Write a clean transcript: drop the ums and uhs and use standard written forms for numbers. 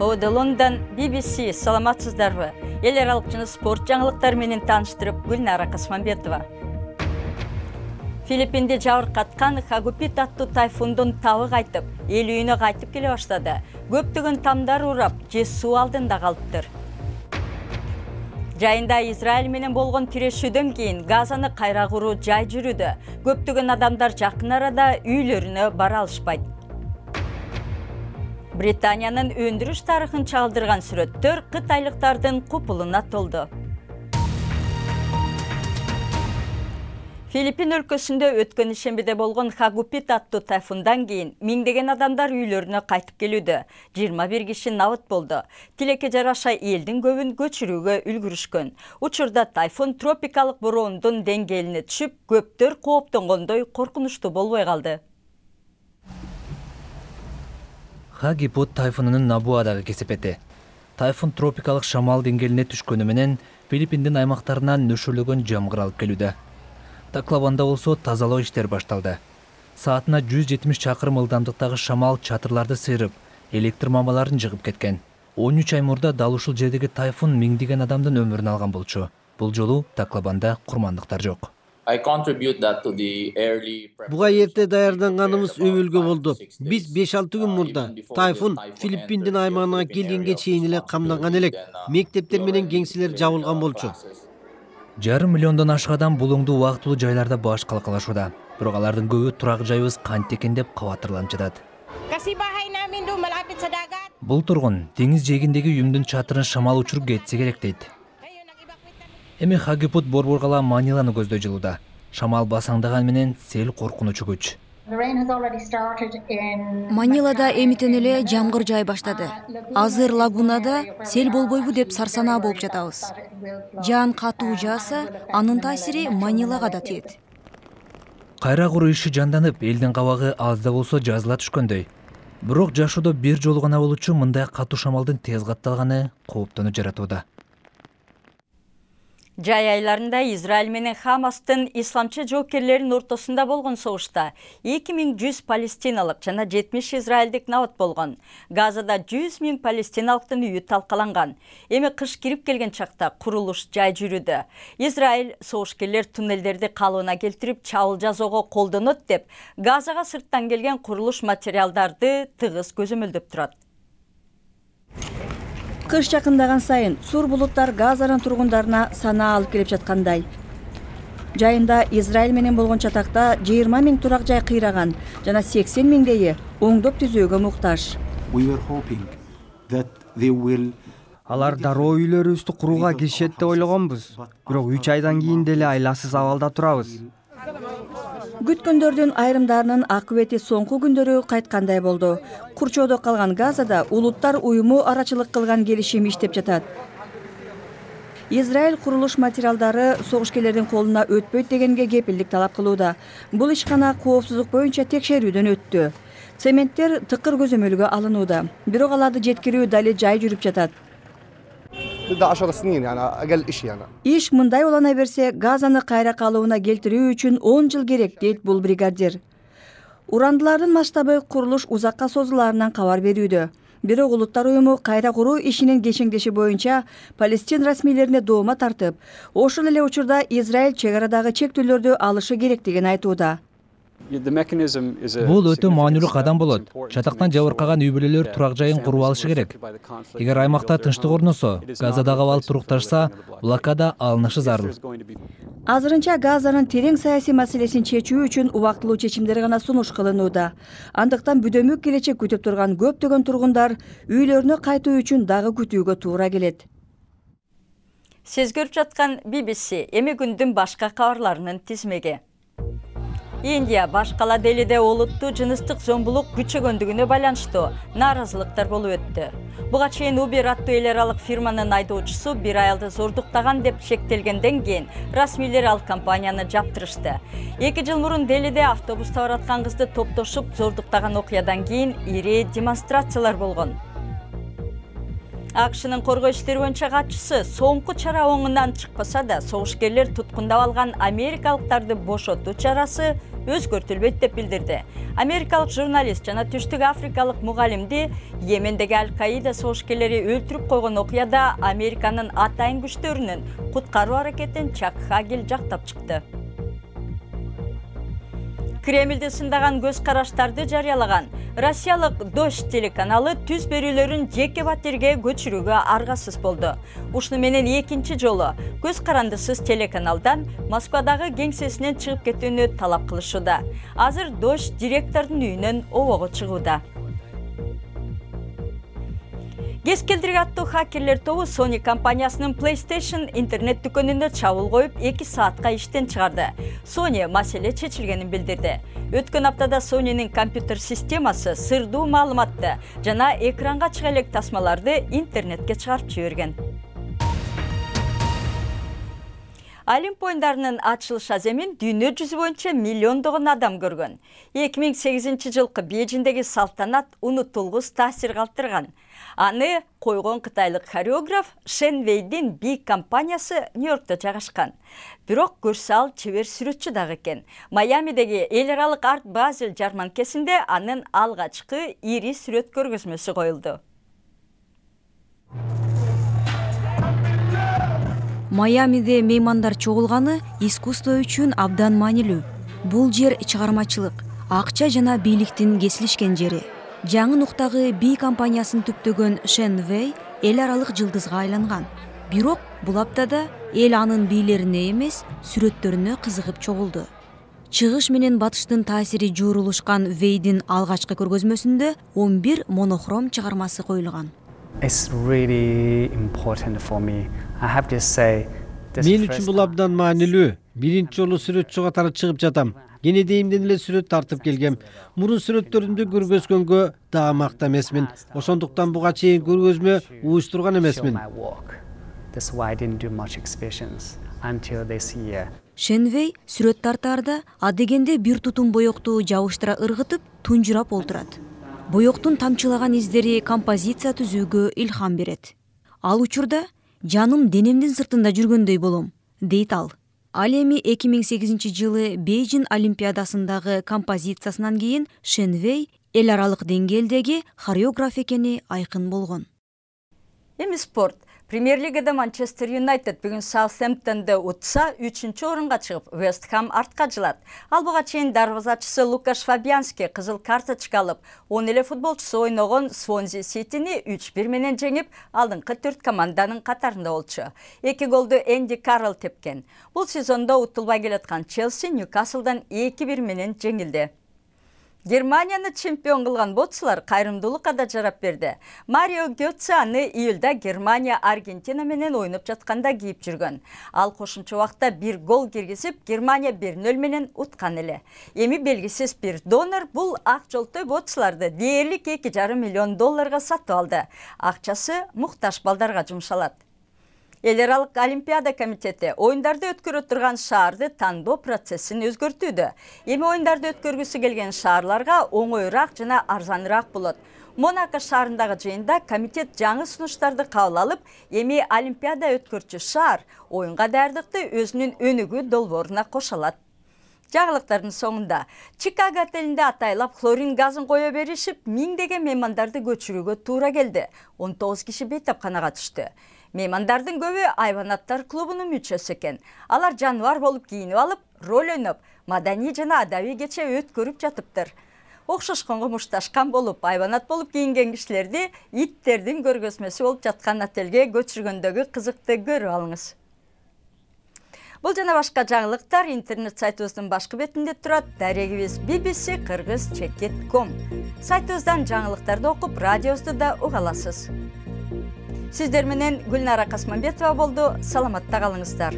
Ода Лондон, BBC, саламатсыздарбы? Эл аралык жана спорт жаңылыктары менен тааныштырып, Гүлнара Касманбетова. Филиппинде жабыркаткан Хагупит аттуу тайфундун табы кайтып, эл үйүнө кайтып келе баштады. Көптөгөн тамдар урап, же суу алдында калыптыр. Жайында Израиль менен болгон тирешүүдөн кийин Газаны кайра куруу жай жүрүүдө. Көптөгөн адамдар жакын арада үйлөрүнө бара алышпайт. Британиянын өндүрүш тарыхын чагылдырган сүрөттөр кытайлыктардын купулуна толду. Филиппин өлкөсүндө өткөн ишембиде болгон Хагупит аттуу тайфундан кийин миңдеген адамдар үйлөрүнө кайтып келүүдө. 21 киши набыт болду. Тилекке жараша элдин көбүн көчүрүүгө үлгүрүшкөн. Учурда тайфун тропикалык бороондун деңгээлине түшүп, көптөр кооптонгондой коркунучтуу болбой калды. Хагипут тайфунунун Набуадагы кесепети. Тайфун тропикалык шамал деңгээлине түшкөнү менен Филиппиндин аймактарынан нөшөлөгөн жамгыр алып келүүдө. Таклабанда болсо тазалоо иштери башталды. Саатына 170 чакырым ылдамдыктагы шамал чатырларды сыйрып, электр мамаларын жыгып кеткен. 13 ай мурда дал ушул жердеги тайфун миңдеген адамдын өмүрүн алган болчу. Бул жолу Таклабанда курмандыктар жок. Буга эрте даярданганыбыз өбөлгө болду. Биз 5-6 күн мурда тайфун Филиппиндин аймагына келгенге чейин эле камданган элек. Мектептер менен кеңселер жабылган болчу. 1,5 миллиондон ашык адам булуңдуу убактылуу жайларда баш калкалашууда. Бирок алардын көбү турак жайыбыз кантип экен деп кабатырланып жатат. Бул тургун деңиз жээгиндеги үйүмдүн чатырын шамал учуруп кетсе керек дейт. Эми Хагипут борборгала Маниланы көздөй жылууда. Шамал басаңдаган менен сел коркунучу күч. Манилада эмитен эле жамгыр жай баштады. Азыр лагунада сел болбойбу деп сарсанаа болуп жатабыз. Жаан катуу жааса, анын таасири Манилага да тиет. Кайра куруу иши жанданып, элдин кабагы аз да болсо жазыла түшкөндөй. Бирок жашоодо бир жолу гана болчу мындай катуу шамалдын тез катталганы кооптону жаратууда. Жай айларында Израиль менен Хамастын исламчы жоокерлеринин ортосунда болгон согушта 2100 палестиналык жана 70 израилдик набыт болгон. Газада 100 000 палестиналыктын үйү талкаланган. Эми кыш кирип келген чакта курулуш жай жүрүүдө. Израиль согушкерлер туннелдерди калыбына келтирип чабыл жасоого колдонот деп, Газага сырттан келген курулуш материалдарды тыгыз көзөмөлдөп турат. Кыш жакындаган сайын сур булуттар Газанын тургундарына санаа алып келип жаткандай. Жайында Израиль менен болгон чатакта 20 000 турак жай кыйраган жана 80 000 оңдоп түзөөгө муктаж. Алар дароо үйлөрүбүздү курууга киришет деп ойлогонбуз. Бирок 3 айдан кийин деле айласыз абалда турабыз. Күткөндөрдүн айрымдарынын акыбети соңку күндөрү кайткандай болду. Курчоодо калган Газада улуттар уюму арачылык кылган келишим иштеп жатат. Израиль курулуш материалдары согушкерлердин колуна өтпөйт дегенге кепилдик талап кылууда. Бул ишкана коопсуздук боюнча текшерүүдөн өттү. Цементтер тыкыр көзөмөлгө алынууда. Бирок аларды жеткирүү дали жай жүрүп жатат. Иш мындай улана берсе, Газаны кайра калыбына келтирүү үчүн 10 жыл керек, дейт бул бригадир. Урандылардын масштабы курулуш узакка созулаарынан кабар берүүдө. Бирок улуттар уюму кайра куруу ишинин кечеңдеши боюнча Палестин расмийлерине доoma тартып, ошол эле учурда Израиль чек арадагы чектөөлөрдү алышы керектигин айтууда. Бул өтө маанилүү кадам болот. Чатактан жабыркаган үй бүлөлөр турак жайын куруп алышы керек. Эгер аймакта тынчтык орносо, Газадагы абал турукташса, блокада алынышы зарыл. Азырынча Газанын терең саясий маселесин чечүү үчүн убактылуу чечимдер гана сунуш кылынууда. Андыктан бүдөмүк келечек күтүп турган көптөгөн тургундар үйлөрүнө кайтуу үчүн дагы күтүүгө туура келет. Сиз көрүп жаткан BBC эми күндүн башка кабарларынын тизмеги. Индия башкала Делиде олуттуу жыныстык зомбулук күчөгөндүгүнө байланыштуу нааразылыктар болуп өттү. Буга чейин Uber аттуу эл аралык фирманын айдоочусу бир аялды зордуктаган деп шектелгенден кийин расмийлер ал компанияны жаптырышты. 2 жыл мурун Делиде автобуста бараткан кызды топтошуп зордуктаган окуядан кийин ири демонстрациялар болгон. АКШнын коргоо иштери боюнча катчысы соңку чара оңунан чыкпаса да, согушкерлер туткундап алган америкалыктарды бошотуу чарасы өзгөртүлбөйт деп билдирди. Америкалык журналист жана Түштүк Африкалык мугалимди Йемендеги Аль-Каида согушкерлери өлтүрүп койгон окуяда Американын атайын күчтөрүнүн куткаруу аракетин Чак Хагел жактап чыкты. Кремлди сындаган көз караштарды жарыялаган Россиялык Дождь телеканалы түз берүүлөрүн жеке батирге көчүрүүгө аргасыз болду. Ушуну менен экинчи жолу көз карандысыз телеканалдан Москвадагы кеңсесинен чыгып кетүүнү талап кылышууда. Азыр Дождь директордун үйүнөн обого чыгууда. Кез келдирге аттуу хакерлер тобу Sony компаниясынын PlayStation интернет дүкөнүнө чабуул коюп 2 саатка иштен чыгарды. Sony маселе чечилгенин билдирди. Өткөн аптада Sony'нин компьютер системасы сырдуу маалыматты жана экранга чыга элек тасмаларды интернетке чыгарып жиберген. Олимп оюндарынын ачылыш аземин дүйнө жүзү боюнча миллиондогон адам көргөн. 2008-жылкы Бейжиңдеги салтанат унутулгус таасир калтырган. Аны койгон кытайлык хореограф Шен Вейдин Бig компаниясы Нью-Йоркто жайгашкан. Бирок көрсө ал чебер сүрөтчү дагы экен. Майамидеги эл аралык Арт Базел жарманкесинде анын алгачкы ири сүрөт көргөзмөсү коюлду. Майамиде меймандар чогулганы искусство үчүн абдан маанилүү. Бул жер чыгармачылык, акча жана бийликтин кесилишкен жери. Жаңы нуктагы Бig компаниясын түптөгөн Шен Вей эл аралык жылдызга айланган. Бирок бул аптада эл анын бийлерине эмес, сүрөттөрүнө кызыгып чогулду. Чыгыш менен батыштын таасири жуурулушкан Вейдин алгачкы көргөзмөсүндө 11 монохром чыгармасы коюлган. It's really important for me. I have to say Мен үчүн бул абдан маанилүү. Биринчи жолу сүрөтчү катары чыгып жатам. Кенедейимден эле сүрөт тартып келгем. Мурун сүрөттөрүмдү көргөзгөнгө дагы макта эмесмин. Ошондуктан буга чейин көргөзмө уюштурган эмесмин. That's why I didn't do much exhibitions until this year. Шенвей сүрөт тартаарда адегенде бир тутум боёкту жабыштыра ыргытып, тунжурап олтурат. Боёктун тамчылаган издери композиция түзүүгө илхам берет. Ал учурда жаным денемдин сыртында жүргөндөй болом, дейт ал. Ал эми 2008-жылы Бейжиң Олимпиадасындагы композициясынан кийин Шенвей эл аралык деңгээлдеги хореограф экени айкын болгон. Эми спорт. Премьер-лигада Манчестер Юнайтед бүгүн Саутгемптонду утса 3-орунга чыгып, Вест Хэм артка жылат. Ал буга чейин дарвазачысы Лукаш Фабиански кызыл карточка алып, 10 эле футболчусу ойногон Свонзи Ситини 3-1 менен жеңип, алдыңкы 4 команданын катарында болчу. 2 голду Энди Каррол тепкен. Бул сезондо утулбай келаткан Челси Ньюкаслдан 2-1 менен жеңилди. Германияны чемпион кылган боксчулар кайрымдуулукка да жарап берди. Марио Гётце аны июлда Германия Аргентина менен ойноп жатканда кийип жүргөн. Ал кошумча убакта 1 гол киргизип, Германия 1-0 менен уткан эле. Эми белгисиз бир донор бул ак жолтой боксчуларды дээрлик $2,5 миллион сатып алды. Акчасы муктаж балдарга жумшалат. Эл аралык Олимпиада комитети оюндарды өткөрө турган шаарды тандоо процессин өзгөртүүдө. Эми оюндарды өткөргүсү келген шаарларга оңоюраак жана арзаныраак болот. Монако шаарындагы жыйында комитет жаңы сунуштарды кабыл алып, эми Олимпиада өткөрчү шаар оюнга даярдыкты өзүнүн өнүгүү долбооруна кошо алат. Жаңылыктардын соңунда Чикаго отелинде атайлап хлорин газын кое беришип, миңдеген меймандарды көчүрүүгө туура келди. 19 киши бейтапканага түштү. Меймандардын көбү айванаттар клубунун мүчөсү экен. Алар жаныбар болуп кийинип алып, роль ойноп, маданий жана адабий кече өткөрүп жатыптыр. Окшошконго мушташкан болуп, айванат болуп кийинген кишилерди иттердин көргөзмөсү болуп жаткан отелге көчүргөндөгү кызыкты көрүп алыңыз. Бул жана башка жаңылыктар интернет сайтыбыздын башкы бетинде турат. Дарегибиз bbc-kyrgyz.com. Сайтыбыздан жаңылыктарды окуп, радиобузду да уга аласыз. Сиздер менен Гүлнара Касманбетова болду. Саламатта калыңыздар.